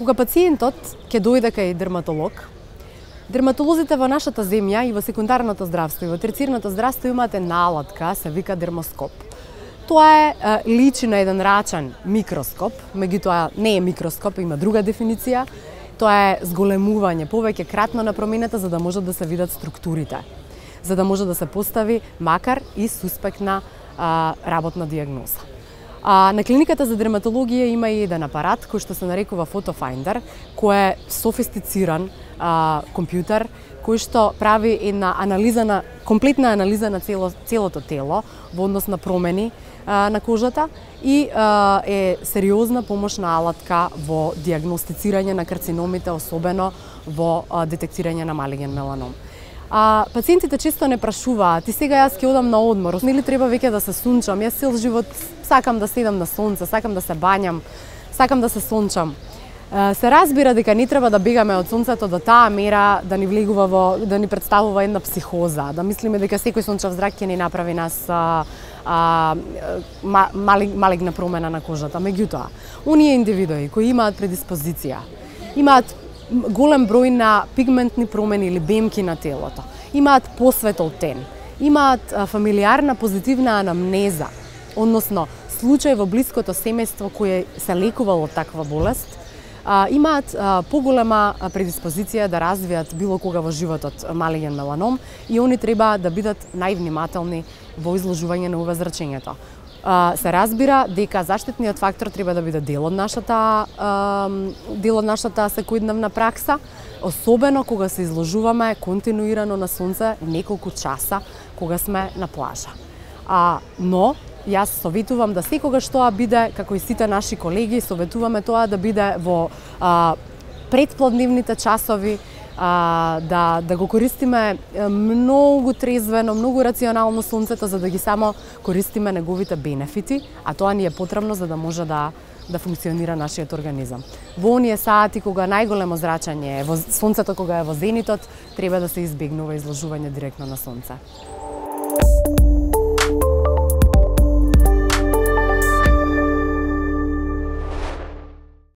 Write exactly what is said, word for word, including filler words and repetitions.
Кога пациентот ќе дојде кај дерматолог, дерматолозите во нашата земја и во секундарното здравство и во терцијарното здравство имаат една алатка, се вика дермоскоп. Тоа е личи на еден рачен микроскоп, меѓутоа не е микроскоп, има друга дефиниција. Тоа е зголемување, повеќе кратно на промената за да може да се видат структурите, за да може да се постави макар и суспектна а, работна дијагноза. А, на клиниката за дерматологија има и еден апарат кој што се нарекува фотофајндер, кој е софистициран а, компјутер кој што прави една анализа на комплетна анализа на цело, целото тело во однос на промени а, на кожата и а, е сериозна помошна алатка во дијагностицирање на карциномите, особено во а, детектирање на малиген меланом. А пациентите често не прашуваат, и сега јас ќе одам на одмор, нели треба веќе да се сончам, јас цел живот сакам да седам на сонце, сакам да се бањам, сакам да се сончам. Се разбира дека не треба да бегаме од сонцето до таа мера да ни влегува во, да ни представува една психоза, да мислиме дека секој сончев зрак ќе ни направи нас а, а, малигна промена на кожата. Меѓутоа, оние индивидуи кои имаат предиспозиција, имаат голем број на пигментни промени или бемки на телото, имаат посветол тен, имаат фамилиарна позитивна анамнеза, односно случај во блиското семејство кое се лекувало од таква болест, имаат поголема предиспозиција да развијат било кога во животот малиген меланом и они треба да бидат највнимателни во изложување на УВ зрачењето. Се разбира дека заштитниот фактор треба да биде дел од нашата дел од нашата секојдневна пракса, особено кога се изложуваме континуирано на сонце неколку часа кога сме на плажа. А, но јас советувам да секогаш тоа биде, како и сите наши колеги, советуваме тоа да биде во а, предплодневните часови, а, да, да го користиме многу трезвено, многу рационално сонцето, за да ги само користиме неговите бенефити, а тоа ни е потребно за да може да да функционира нашиот организам. Во оние сати кога најголемо зрачење е, во сонцето кога е во зенитот, треба да се избегнува изложување директно на сонце.